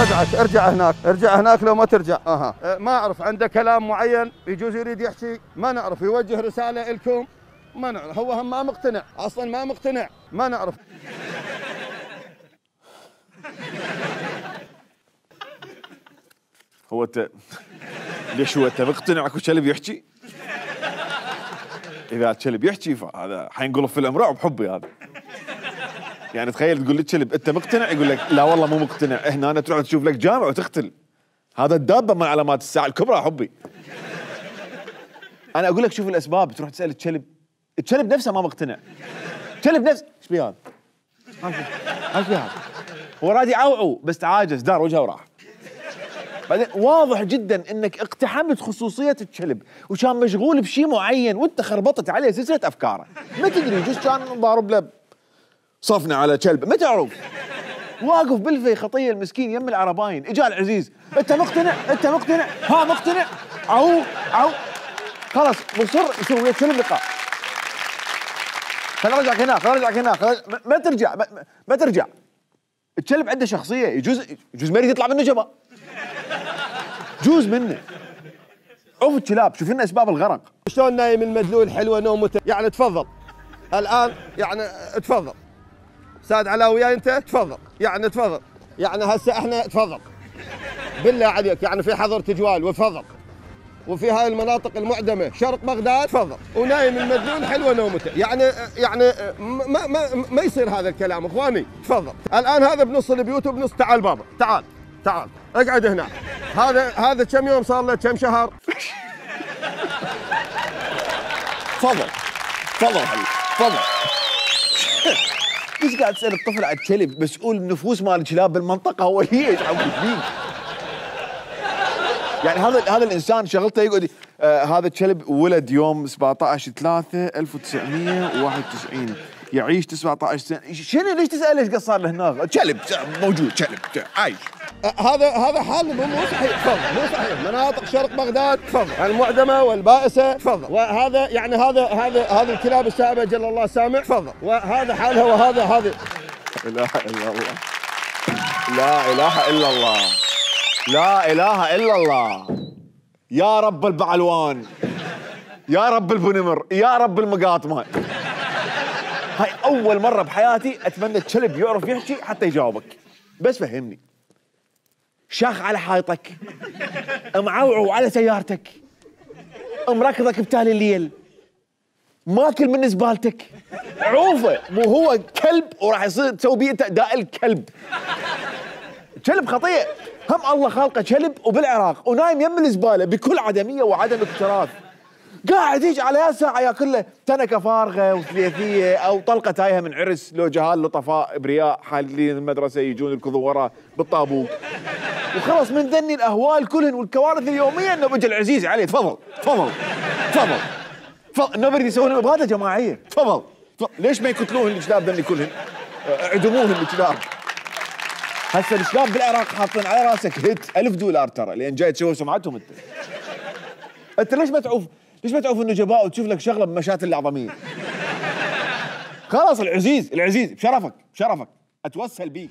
رجعك، ارجع هناك، ارجع هناك لو ما ترجع. ما اعرف، عنده كلام معين يجوز يريد يحكي، ما نعرف، يوجه رساله لكم، ما نعرف، هو هم ما مقتنع، اصلا ما مقتنع، ما نعرف. هو انت ليش هو انت مقتنع اكو كلب يحكي؟ اذا الكلب يحكي فهذا حينقلب في الامراء بحبي هذا. يعني تخيل تقول للكلب انت مقتنع، يقول لك لا والله مو مقتنع، هنا أنا تروح تشوف لك جامع وتختل. هذا الدابه من علامات الساعه الكبرى حبي. انا اقول لك شوف الاسباب، تروح تسال الكلب، الكلب نفسه ما مقتنع. الكلب نفسه ايش بيه هذا؟ ايش بيه هذا؟ هو راد يعوعو بس تعاجز، دار وجهه وراح. بعدين واضح جدا انك اقتحمت خصوصيه الكلب وكان مشغول بشيء معين وانت خربطت عليه سلسله افكاره. ما تدري يجوز كان ضارب له صفنه على كلب، ما تعرف. واقف بالفي خطيه المسكين يم العرباين، اجا العزيز، انت مقتنع؟ انت مقتنع؟ ها مقتنع؟ عو خلاص مصر يسوي ويا الكلب لقاء. خليني ارجعك هناك، خليني ارجعك هناك، ما ترجع، ما ترجع. الكلب عنده شخصيه، يجوز ما يريد يطلع منه جبا. جوز منه. عوف الكلاب، شوف لنا اسباب الغرق. شلون نايم المدلول حلوه نومته، يعني تفضل. الان يعني تفضل. استاذ علاء وياي انت تفضل، يعني تفضل. يعني هسه احنا تفضل. بالله عليك، يعني في حظر تجوال وتفضل. وفي هاي المناطق المعدمه شرق بغداد تفضل، ونايم المدلول حلوه نومته، يعني ما يصير هذا الكلام اخواني، تفضل. الان هذا بنص البيوت وبنص، تعال بابا، تعال اقعد هنا. هذا كم يوم صار له، كم شهر؟ تفضل حبيبي تفضل. ليش قاعد تسال الطفل عن كلب؟ مسؤول النفوس مال الكلاب بالمنطقه هو هي ايش عم فيه؟ يعني هذا الانسان شغلته يقعد هذا الكلب ولد يوم 17/3/1991 يعيش 19 سنه. شنو ليش تسال ليش قصر له هناك؟ كلب موجود، كلب عايش. هذا حال مو صحيح، تفضل، مو صحيح. مناطق شرق بغداد تفضل، المعدمه والبائسه تفضل، وهذا يعني هذا الكلاب السائبه جل الله سامع تفضل، وهذا حالها وهذا لا اله الا الله، لا اله الا الله، لا اله الا الله. يا رب البعلوان، يا رب البنمر، يا رب المقاطمه. هاي اول مره بحياتي اتمنى الكلب يعرف يحكي حتى يجاوبك. بس فهمني، شاخ على حائطك، معوعو على سيارتك، مركضك بتالي الليل، ماكل من زبالتك، عوفه مو هو كلب وراح يصير تسوي بيه انت اداء الكلب. كلب خطيئ، هم الله خالقه كلب وبالعراق ونايم يم الزباله بكل عدميه وعدم اكتراث. قاعد يجي على ساعه ياكل له تنكه فارغه وثلاثيه او طلقه تايهه من عرس، لو جهال لطفاء ابرياء حالين المدرسه يجون يركضوا وراه بالطابوق. وخلص من ذني الاهوال كلهن والكوارث اليوميه انه بيجي العزيز عليه. تفضل انه بريد يسوون اباده جماعيه. تفضل ليش ما يقتلوهن الكلاب ذني كلهن؟ اعدموهن الكلاب. هسه الكلاب بالعراق حاطين على راسك هيت $1000 ترى، لان جاي تسوي سمعتهم انت ليش ما تعوف انه جباء وتشوف لك شغله بمشاتل الاعظميه؟ خلاص العزيز بشرفك اتوسل بيك.